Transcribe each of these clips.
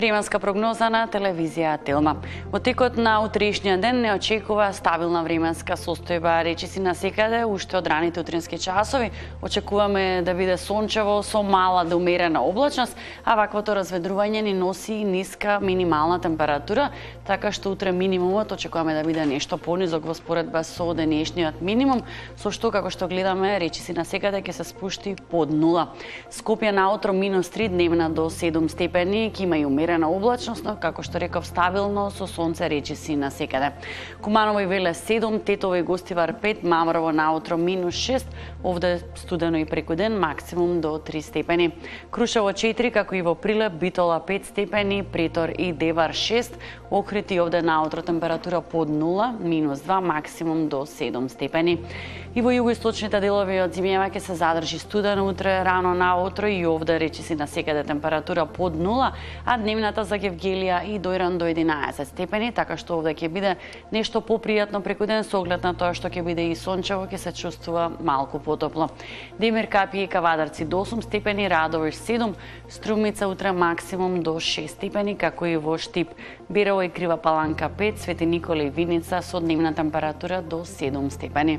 Временска прогноза на телевизија Телма. Во текот на утрешниот ден не очекува стабилна временска состојба, речиси насекаде, уште од раните утрински часови. Очекуваме да биде сончево со мала до умерена облачност, а ваквото разведрување ни носи ниска минимална температура, така што утре минимумот очекуваме да биде нешто понизок во споредба со денешниот минимум, со што, како што гледаме, речиси насекаде ќе се спушти под нула. Скопје наутро -3, дневна до 7 степени, ќе има и умерена облачност, но како што реков стабилно со сонце речиси насекаде. Куманово и Велес 7, Тетово и Гостивар 5, Мамрово наутро -6, овде студено и преку ден, максимум до 3 степени. Крушево 4, како и во Прилеп, Битола 5 степени, Претор и Девар 6, Охрид и овде наутро температура под 0, -2, максимум до 7 степени. И во југоисточните делови од земјава ќе се задржи студено утре рано наутро и овде речиси насекаде температура под 0, а дневната за Гевгелија и Дојран до 11 степени, така што овде ќе биде нешто попријатно преку ден со оглед на тоа што ќе биде и сончево, ќе се чувствува малку потопло. Демир Капи и Кавадарци до 8 степени, Радовиш 7, Струмица утре максимум до 6 степени, како и во Штип, Берово и Крива Паланка 5, Свети Никола и Виница со дневна температура до 7 степени.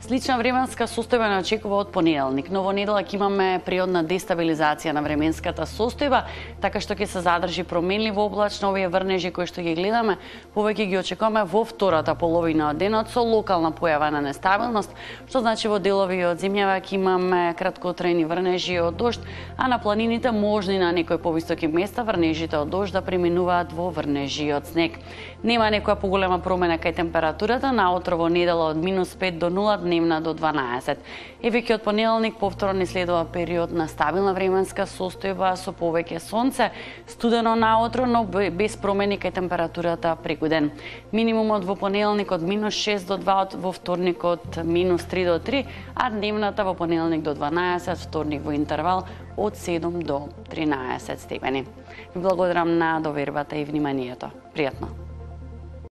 Слична временска состојба не очекува од понеделник, но во недела ќе имаме природна дестабилизација на временската состојба, така што ќе се задржи променливо облачно овие врнежи кои што ги гледаме, повеќе ги очекуваме во втората половина од денот со локална појава на нестабилност, што значи во делови од земјава ќе имаме краткотрајни врнежи од дожд, а на планините можни на некои повисоки места врнежите од дожд да преминуваат во врнежи од снег. Нема некоја поголема промена кај температурата, наутро во недела од -5 до 0, дневна до 12. И веќе од понеделник повторно ни следува период на стабилна временска состојба со повеќе сонце, студено наутро, но без промени кај температурата преку ден. Минимумот во понеделник од -6 до 2, во вторник од -3 до 3, а дневната во понеделник до 12, вторник во интервал од 7 до 13 степени. Ви благодарам на довербата и вниманието. Пријатно.